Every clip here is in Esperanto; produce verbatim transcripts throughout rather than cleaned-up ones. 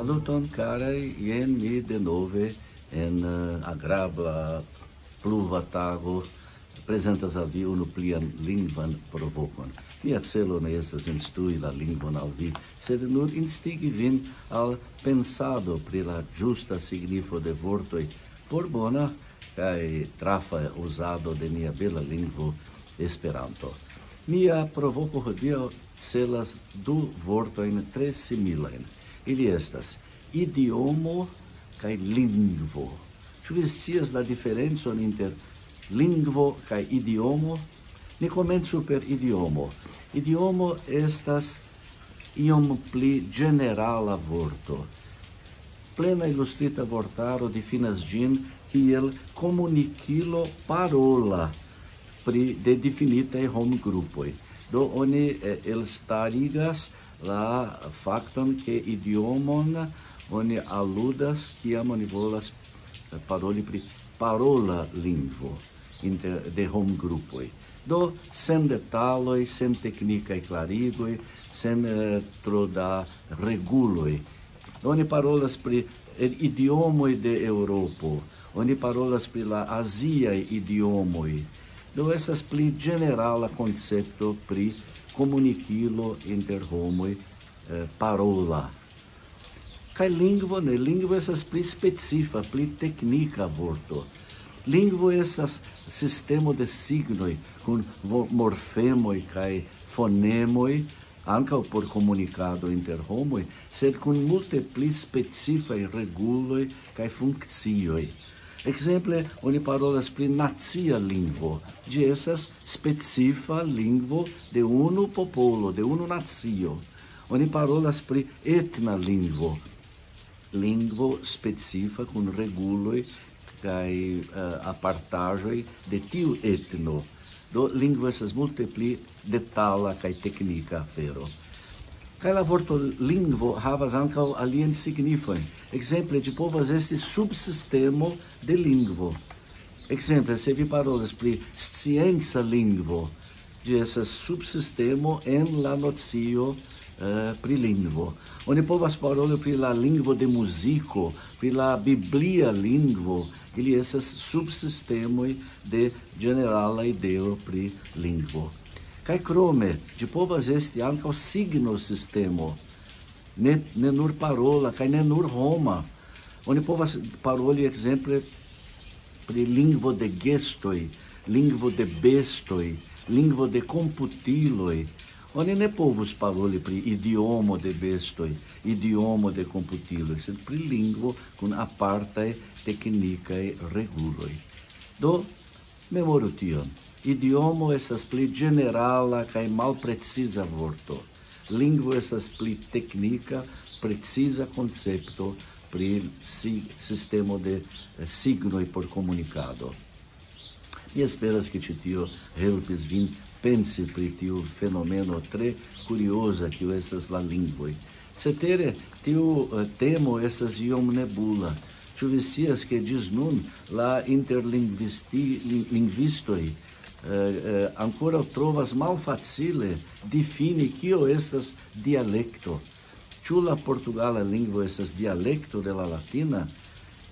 Saluton, karaj, jen mi denove en eh, agrabla pluva tago prezentas al vi unu plian lingvan provokon. Mia celo ne estas instrui la lingvon al vi, sed nur instigi vin al pensado pri la ĝusta signifo de vortoj por bona kaj trafa uzado de nia bela lingvo Esperanto. Mia provoko hodiaŭ celas du vortojn tre similajn. Ili estas idiomo kaj lingvo. Ĉu vi scias la diferencon inter lingvo kaj idiomo? Ni komencu per idiomo. Idiomo estas iom pli ĝenerala vorto. Plena ilustrita vortaro difinas ĝin kiel komunikilo parola pri de difinitaj homgrupoj. Do oni eh, elstarigas la fakton, ke idiomon oni aludas, kiam oni volas eh, paroli pri parola lingvo inter de homgrupoj. Do sen detaloj, sen teknikaj klarigoj, sen eh, tro da reguloj. Oni parolas pri eh, idiomoj de Eŭropo, oni parolas pri la aziaj idiomoj. Do estas pli ĝenerala koncepto pri komunikilo inter homoj eh, parola. Kaj lingvo ne, lingvo estas pli specifa, pli teknika vorto. Lingvo estas sistemo de signoj kun vo- morfemoj kaj fonemoj, ankaŭ por komunikado inter homoj, sed kun multe pli specifaj reguloj kaj funkcioj. Ekzemple, oni parolas pri nacia lingvo. Ĝi estas specifa lingvo de unu popolo, de unu nacio. Oni parolas pri etna lingvo. Lingvo specifa kun reguloj kaj eh, apartaĵoj de tiu etno. Do lingvo estas multe pli detala kaj teknika afero. Kaj la vorto lingvo havas ankaŭ aliajn signifojn. Ekzemple, ĝi povas esti subsistemo de lingvo. Ekzemple, se vi parolas pri scienca lingvo, ĝi estas subsistemo en la nocio eh, pri lingvo. Oni povas paroli pri la lingvo de muziko, pri la biblia lingvo. Ili estas subsistemoj de ĝenerala ideo pri lingvo. Kaj krome, ĝi povas esti ankaŭ signosistemo, ne, ne nur parola, kaj ne nur homa. Oni povas paroli, ekzemple, pri lingvo de gestoj, lingvo de bestoj, lingvo de komputiloj. Oni ne povus paroli pri idiomo de bestoj, idiomo de komputiloj, sed pri lingvo kun apartaj teknikaj reguloj. Do, memoru tion. Idiomo estas pli ĝenerala kaj malpreciza vorto. Lingvo estas pli teknika, preciza koncepto pri si- sistemo de eh, signoj por komunikado. Mi esperas, ke ĉi tio helpis vin pensi pri tiu fenomeno tre kurioza, kiu estas la lingvoj. Cetere, tiu eh, temo estas iom nebula. Ĉu vi scias, ke ĝis nun la interlingvisti- lin- lingvistoj eh, eh, ankoraŭ trovas malfacile difini, kio estas dialekto? Ĉu la portugala lingvo estas dialekto de la latina?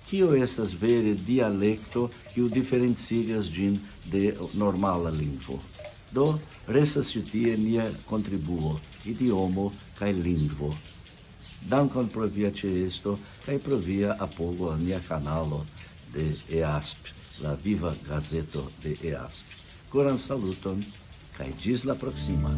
Kio estas vere dialekto, kiu diferencigas ĝin de normala lingvo? Do, restas ĉi tie nia kontribuo, idiomo kaj lingvo. Dankon pro via ĉeesto kaj pro via apogo al nia kanalo de easp, la viva gazeto de easp. Koran saluton kaj ĝis la proksima.